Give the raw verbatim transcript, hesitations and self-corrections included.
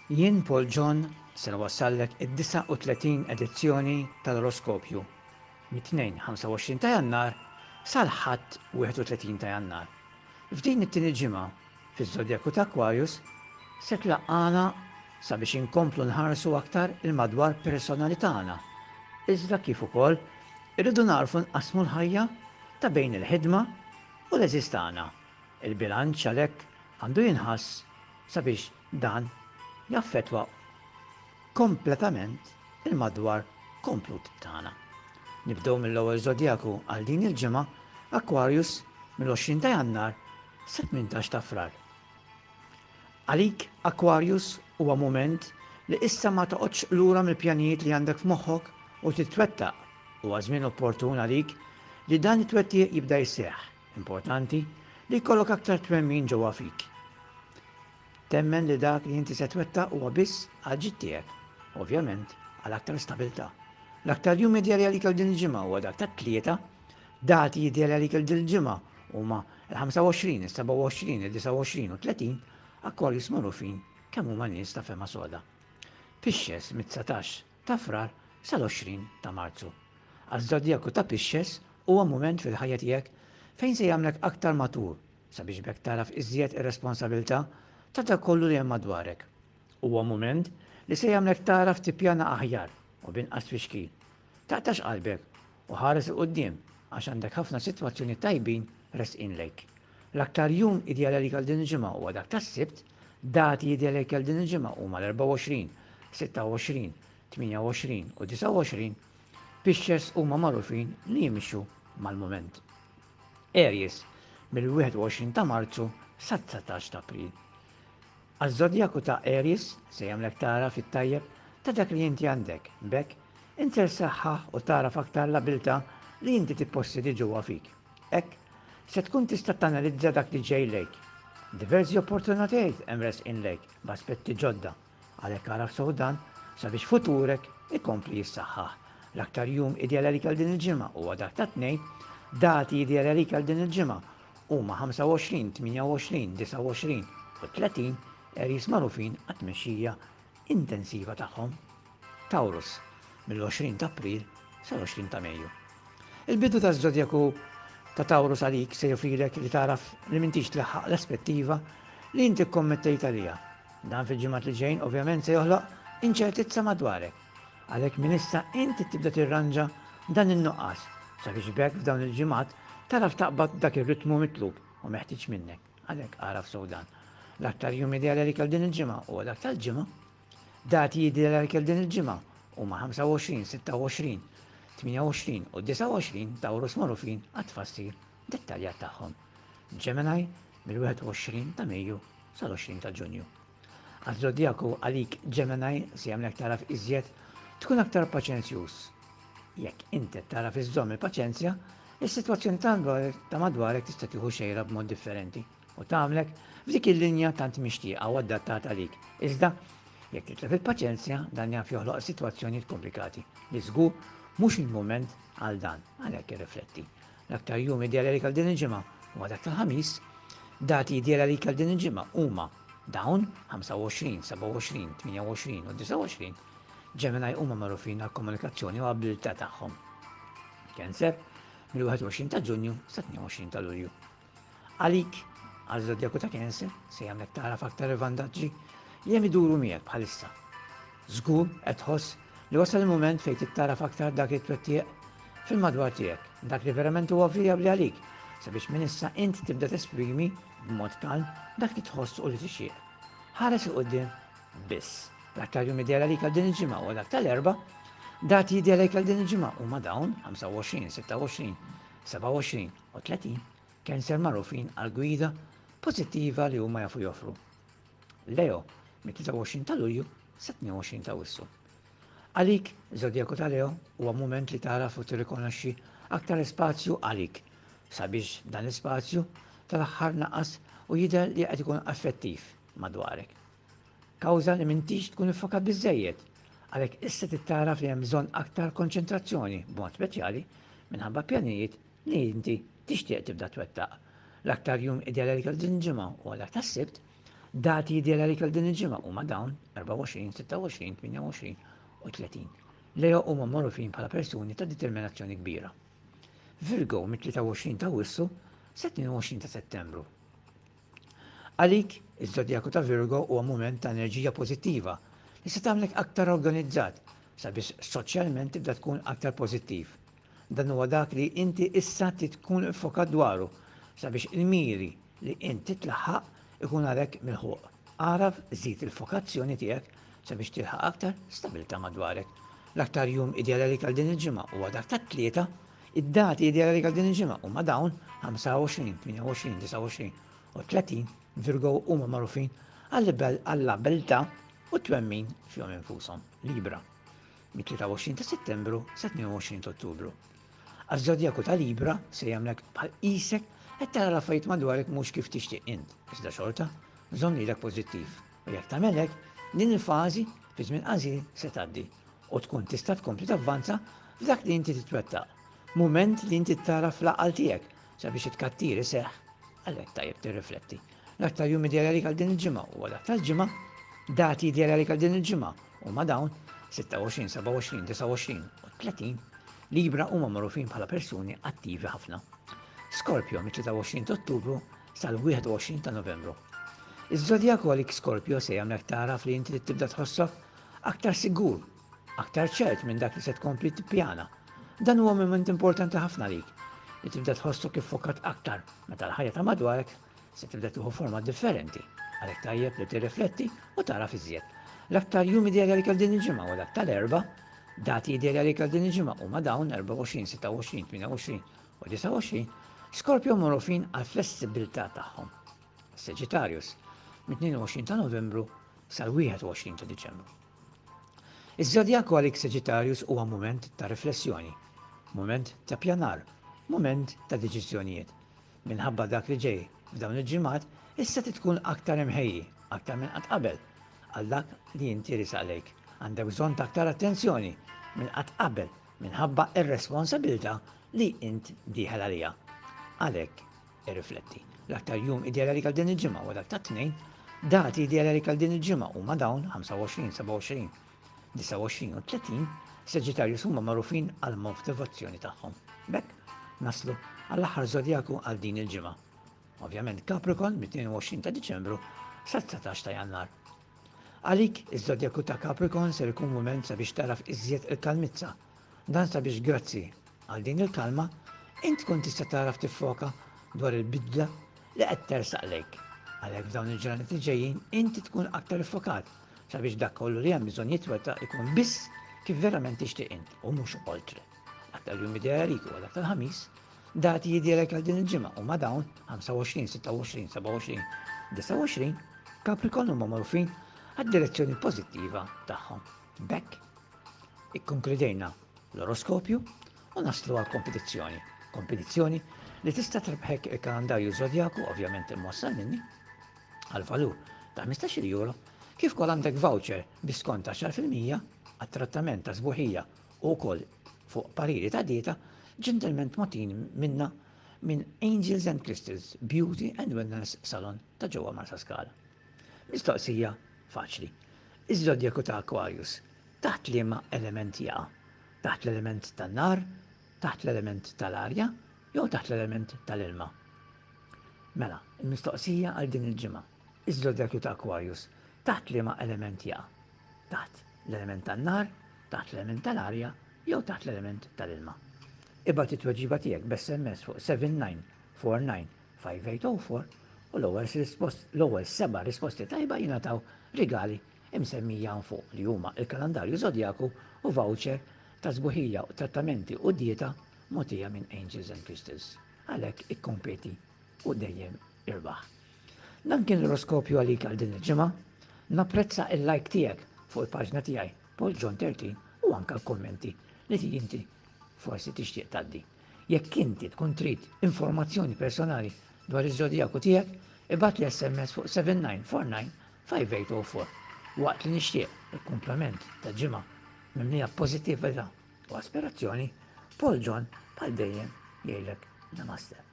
Jien Paul John se nwassallek id-disgħa u tletin edizzjoni tal-Oroskopju mit-Tnejn ħamsa u għoxrin ta' Jannar sal-Ħadd wieħed u tletin ta' Jannar. F'din it-tieni ġimgħa fiż-Żodjaku ta' Aquarius se tlaqqana sabiex inkomplu nħarsu aktar il-madwar personali tagħna. Iżda kif ukoll irridu narfu nqasmu l-ħajja ta' bejn il-ħidma u l-eżiż tagħna. Il-bilanċ għalhekk għandu jinħass sabiex dan jaffettwa kompletament il-madwar komplut tagħna. Nibdew mill-ewwel żodjaku għal din il-ġimgħa, Aquarius, mill-għoxrin ta' Jannar sa tmintax ta' Frar. Għalik, Aquarius, huwa mument li issa ma toqgħodx lura mill-pjanijiet li għandek f'moħħok u titwettaq. Huwa żmien opportun għalik li dan it-twettiq jibda jseħħ. Importanti li jkollok aktar twemmin ġewwa fik. Temmen li dak li inti se twettaq huwa biss għal ġid tiegħek, ovvjament għal aktar stabilità. L-aktar jum ideali għalik għal din il-ġimgħa huwa dak tat-Tlieta, dati ideali għalik għal din il-ġimgħa huma il-ħamsa u għoxrin, is-sebgħa u għoxrin, id-disgħa u għoxrin u tletin, Aquarius magħrufin kemm huma nies ta' fema soda. Pisces mit-dsatax ta' Frar sal-għoxrin ta' Marzu. Għaż-żodjaku ta' Pisces huwa mument fil-ħajja tiegħek fejn se jagħmlek aktar matur sabiex bekk taraf iżjed ir-responsabilità ta' dak kollu li hemm madwarek. Huwa mument li se jagħmlek taraf tippjana aħjar u binqas tfixkil. Taqtax qalbek u ħares il quddiem għax għandek ħafna sitwazzjoni tajbin resqin lejk. L-aktar jum ideali għalik għal din il-ġimgħa huwa dak tas-Sibt, dati ideali għalik għal din il-ġimgħa huma l-erbgħa u għoxrin, sitta u għoxrin, tmienja u għoxrin u disgħa u għoxrin. Pisces huma magħrufin li jimxu mal-mument. Aries mill-wieħed u għoxrin ta' Marzu sa dsatax ta' April. Għaż-żodjaku ta' Aries se jagħmlek tara fit-tajjeb ta' dak li inti għandek, b'hekk inti saħħaħ u tara aktar l-abilità li inti tippossedi ġewwa fik. Hekk se tkun tista' tanalizza dak li ġej lejk. Diversi opportunitajiet hemm resqin lejk b'aspetti ġodda, għalhekk araf sew dan sabiex futurek ikompli jissaħħaħ. L-aktar jum ideali għalik għal din il-ġimgħa huwa dak ta' Tnejn, dati ideali għalik għal din il-ġimgħa huma ħamsa u għoxrin, tmienja u għoxrin, disgħa u għoxrin u tletin. Aries magħrufin għat-tmexxija intensiva tagħhom. Taurus mill-għoxrin ta' April sal-għoxrin ta' Mejju. Il-bidu taż-żodjaku ta' Taurus għalik se joffrilek li taraf li m'intix tlaħħaq l-aspettiva li inti kkommettejt għaliha. Dan fil-ġimgħat li ġejn ovvjament se joħloq inċertizza madwarek. Għalhekk minn issa inti tibda tirranġa dan in-nuqqas sabiex b'hekk f'dawn il-ġimgħat taraf taqbad dak ir-ritmu mitlub u meħtieġ minnek. Għalhekk araf sew dan. L-aktar jum ideali għalik għal din il-ġimgħa huwa dak tal-Ġimgħa. Dati ideali għalik għal din il-ġimgħa huma ħamsa u għoxrin, sitta u għoxrin, tmienja u għoxrin u disgħa u għoxrin. Taurus magħrufin għat-tfassir dettaljat tagħhom. Gemini mill-wieħed u għoxrin ta' Mejju sal-għoxrin ta' Ġunju. Għaż-żodjaku għalik Gemini se jagħmlek taraf iżjed tkun aktar paċenzjuż. Jekk inti taraf iżżomm il-paċenzja, is-sitwazzjoni ta' madwarek tista' tieħu xejra b'mod differenti u tagħmlek f'dik il-linja tant mixtieqa u adattata għalik. Iżda, jekk titlef il-paċenzja, dan jaf joħloq sitwazzjonijiet komplikati li żgur mhux il-mument għal dan, għalhekk irrifletti. L-aktar jum ideali għalik għal din il-ġimgħa huwa dak tal-Ħamis, dati ideali għalik għal din il-ġimgħa huma dawn ħamsa u għoxrin, sebgħa u għoxrin, tmienja u għoxrin u disgħa u għoxrin. Gemini huma magħrufin għall-komunikazzjoni u abilità tagħhom. Cancer mill-wieħed u għoxrin ta' Ġunju sa tnejn u għoxrin ta' Lulju. Għalik, għaż-żodjaku ta' Cancer, se jagħmlek tagħraf aktar il-vantaġġi li hemm iduru miegħek bħalissa. Żgur qed tħoss li wasal il-mument fejn tittaraf aktar dak it-twettiq fil-madwar tiegħek, dak li verament huwa vijabbli għalik, sabiex minn issa int tibda tesprimi b'mod kalm dak li tħoss u li tixtieq. Ħares il quddiem biss. L-aktar jum ideali għalik għal din il-ġimgħa huwa dak tal-Erbgħa, dati ideali għalik għal din il-ġimgħa huma dawn ħamsa u għoxrin, sitta u għoxrin, sebgħa u għoxrin u tletin. Cancer magħrufin għal gwida pożittiva li huma jafu joffru. Leo mit-tlieta u għoxrin ta' Lulju sa tnejn u għoxrin ta' Awwissu. Għalik, żodjaku ta' Leo, huwa mument li tagħraf u tirrikonoxxi aktar spazju għalik sabiex dan l-ispazju tal-aħħar naqas u jidher li qed ikun effettiv madwarek. Kawża li m'intix tkun iffokat biżżejjed, għalhekk issa tittaraf li hemm bżonn aktar konċentrazzjoni b'mod speċjali minħabba pjanijiet li inti tixtieq tibda twettaq. L-aktar jum ideali għalik għal din il-ġimgħa huwa dak tas-Sibt, Dati ideali għalik għal din il-ġimgħa huma dawn erbgħa u għoxrin, sitta u għoxrin, tmienja u għoxrin u tletin. Leo huma magħrufin bħala persuni ta' determinazzjoni kbira. Virgo mit-tlieta u għoxrin ta' Awwissu sa tnejn u għoxrin ta' Settembru. Għalik, iż-żodjaku ta' Virgo huwa mument ta' enerġija pożittiva li se tagħmlek aktar organizzat sabiex soċjalment tibda tkun aktar pożittiv. Dan huwa dak li inti issa trid tkun iffokat dwaru sabiex il-miri li inti tlaħħaq ikun għalhekk milħuq. Araf żid il-fokazzjoni tiegħek sabiex tilħaq aktar stabilità madwarek. L-aktar jum ideali għalik għal din il-ġimgħa huwa dak tat-Tlieta. Id-dati ideali għalik għal din il-ġimgħa huma dawn ħamsa u għoxrin, tmienja u għoxrin, disgħa u għoxrin u tletin. Virgo huma magħrufin għall-abilità u twemmin fihom infushom. Libra, mit-tlieta u għoxrin ta' Settembru sa tnejn u għoxrin ta' Ottubru. Għaż-żodjaku ta' Libra se jagħmlek bħal qisek qed tara l-affarijiet madwarek mhux kif tixtieq int, iżda xorta żomm lilek pożittiv. U jekk tagħmel hekk, din il-fażi fi żmien qasir se tgħaddi u tkun tista' tkompli tavvanza f'dak li inti titwettaq. Mument li inti tara fl-aqal tiegħek sabiex it-kattir iseħħ, għalhekk tajjeb tirrifletti. L-aktar jum ideali għalik għal din il-ġimgħa huwa dak tal-ġimgħa. Dati ideali għalik għal din il-ġimgħa huma dawn sitta u għoxrin, seba' u għoxrin, disgħa u għoxrin u tletin. Libra huma magħrufin bħala persuni attivi ħafna. Scorpio mit-tlieta u għoxrin ta' Ottubru sal-wieħed u għoxrin ta' Novembru. Iż-żodjaku għalik Scorpio se jagħmlek tagħraf li inti tibda tħossok aktar sigur, aktar ċert minn dak li se tkompli tippjana. Dan huwa mument importanti ħafna għalik li tibda tħossok iffokat aktar meta l-ħajja ta' madwarek se tibda tieħu forma differenti. Għalhekk tajjeb li tirrifletti u tagħraf iżjed. L-aktar jum ideali għalik għal din il-ġimgħa huwa dak tal-Erbgħa. Dati ideali għalik għal din il-ġimgħa huma dawn erbgħa u għoxrin, sitta u għoxrin, tmienja u għoxrin u disgħa u għoxrin. Scorpio magħrufin għal flessibilità tagħhom. Sagittarius mit-tnejn u għoxrin ta' Novembru sal-wieħed u għoxrin ta' Diċembru. Iż-żodjaku għalik Sagittarius huwa mument ta' riflessjoni, mument ta' pjanar, mument ta' deċiżjonijiet. Minħabba dak li ġej f'dawn il-ġimgħat, issa trid tkun aktar imħejji, aktar minn qatt qabel, għal dak li inti risaq lejk. Għandek bżonn ta' aktar attenzjoni minn qatt qabel minħabba ir-responsabilità li int dieħel għalija. Għalhekk irrifletti. L-aktar jum ideali għalik għal din il-ġimgħa huwa dak tat-Tnejn. Dati ideali għalik għal din il-ġimgħa huma dawn ħamsa u għoxrin, seba' u għoxrin, disgħa u għoxrin u tletin. Sagittarius huma magħrufin għal motivazzjoni tagħhom. B'hekk naslu għall-aħħar żodjaku għal din il-ġimgħa. Ovvjament Capricorn mit-tnejn u għoxrin ta' Diċembru sa dsatax ta' Jannar. Għalik iż-żodjaku ta' Capricorn ser ikun mument sabiex taraf iżjed il-kalmizza. Dan sabiex grazzi għal din il-kalma int tkun tista' taraf tiffoka dwar il-bidla li qed tersaq lejk. Għalhekk f'dawn il-ġranet li ġejjin inti tkun aktar iffokat sabiex dak kollu li hemm bżonn jitwettaq ikun biss kif verament tixtieq int u mhux oltre. Aktar jum ideali għalik huwa dak tal-Ħamis. Dati ideali għal din il-ġimgħa huma dawn ħamsa u għoxrin, sitta u għoxrin, seba' u għoxrin, disgħa u għoxrin. Capricorn huma magħrufin għad-direzzjoni pożittiva tagħhom. B'hekk ikkonkludejna l-oroskopju u naslu għal kompetizzjoni. Kompetizzjoni li tista' trebħek il-kalendarju żodjaku, ovvjament imwassal minni, għal valur ta' ħmistax-il euro, kif ukoll għandek voucher bi skont ta' għaxar fil-mija għat-trattament ta' sbuħija u wkoll fuq pariri ta' dieta, ġentilment motin minna minn Angels and Crystals Beauty and Wellness Salon ta' ġewwa Marsaskala. Mistoqsija faċli. Iż-żodjaku ta' Aquarius taħt liema element jaqa'? Taħt l-element tan-nar, taħt l-element tal-arja, jew taħt l-element tal-ilma? Mela, il-mistoqsija għal din il-ġimgħa. Iż-żodjaku ta' Aquarius taħt liema element jaqa'? Taħt l-element tan-nar, taħt l-element tal-arja, jew taħt l-element tal-ilma? Ibgħat it-tweġiba tiegħek b'S M S fuq seven nine four nine five eight oh four u l-ewwel rispost-, l-ewwel seba' risposti tajba jingħataw rigali imsemmija hawn fuq li huma il-kalendarju żodjaku u voucher ta' sbuħija u trattamenti u dieta mogħtija minn Angels and Crystals. Għalhekk ikkompeti u dejjem irbaħ. Dan kien l-oroskopju għalik għal din il-ġimgħa. Napprezza il-like tiegħek fuq il-paġna tiegħi Paul John thirteen u anke l-kommenti li inti forsi tixtieq tgħaddi. Jekk inti tkun trid informazzjoni personali dwar iż-żodjaku tiegħek, ibgħat li S M S fuq seven nine four nine five eight oh four. Waqt li nixtieq il-kumplament ta' ġimgħa mimlija pożittività u aspirazzjoni, Paul John bħal dejjem jgħidlek namaste.